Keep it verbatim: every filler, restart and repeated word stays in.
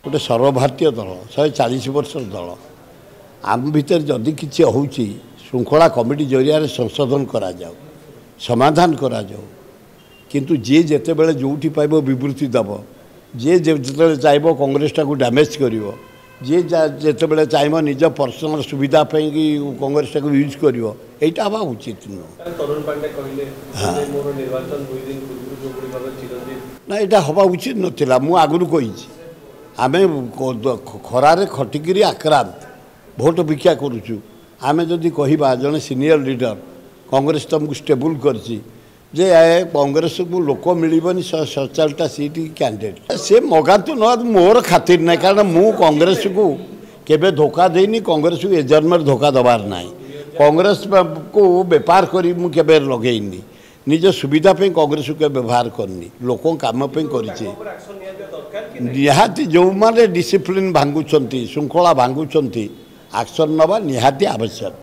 ଗୋଟେ ସର୍ବଭାରତୀୟ ଦଳ, ଶହେ ଚାଳିଶ ବର୍ଷର ଦଳ। ଆମ ଭିତରେ ଯଦି କିଛି ହେଉଛି, ଶୃଙ୍ଖଳା କମିଟି ଜରିଆରେ ସଂଶୋଧନ କରାଯାଉ, ସମାଧାନ କରାଯାଉ। କିନ୍ତୁ ଯିଏ ଯେତେବେଳେ ଯେଉଁଠି ପାଇବ ବିବୃତ୍ତି ଦେବ, ଯିଏ ଯେତେବେଳେ ଚାହିଁବ କଂଗ୍ରେସଟାକୁ ଡ୍ୟାମେଜ୍ କରିବ, ଯିଏ ଯେତେବେଳେ ଚାହିଁବ ନିଜ ପର୍ସନାଲ ସୁବିଧା ପାଇଁକି କଂଗ୍ରେସଟାକୁ ୟୁଜ୍ କରିବ, ଏଇଟା ହେବା ଉଚିତ ନୁହଁ। ନା, ଏଇଟା ହେବା ଉଚିତ ନଥିଲା। ମୁଁ ଆଗରୁ କହିଛି, ଆମେ ଖରାରେ ଖଟିକିରି ଆକ୍ରାନ୍ତ, ଭୋଟ ଭିକ୍ଷା କରୁଛୁ। ଆମେ ଯଦି କହିବା ଜଣେ ସିନିୟର ଲିଡର, କଂଗ୍ରେସ ତୁମକୁ ଷ୍ଟେବୁଲ୍ କରିଛି ଯେ କଂଗ୍ରେସକୁ ଲୋକ ମିଳିବନି, ଶହେ ସତଚାଳିଶଟା ସିଟ୍ କ୍ୟାଣ୍ଡିଡେଟ୍ ସେ ମଗାନ୍ତୁ ନ, ମୋର ଖାତିର ନାହିଁ। କାରଣ ମୁଁ କଂଗ୍ରେସକୁ କେବେ ଧୋକା ଦେଇନି, କଂଗ୍ରେସକୁ ଏ ଜନ୍ମରେ ଧୋକା ଦେବାର ନାହିଁ। କଂଗ୍ରେସକୁ ବେପାର କରି ମୁଁ କେବେ ଲଗେଇନି, ନିଜ ସୁବିଧା ପାଇଁ କଂଗ୍ରେସକୁ କେବେ ବ୍ୟବହାର କରିନି, ଲୋକଙ୍କ କାମ ପାଇଁ କରିଛି। ନିହାତି ଯେଉଁମାନେ ଡିସିପ୍ଲିନ୍ ଭାଙ୍ଗୁଛନ୍ତି, ଶୃଙ୍ଖଳା ଭାଙ୍ଗୁଛନ୍ତି, ଆକ୍ସନ୍ ନେବା ନିହାତି ଆବଶ୍ୟକ।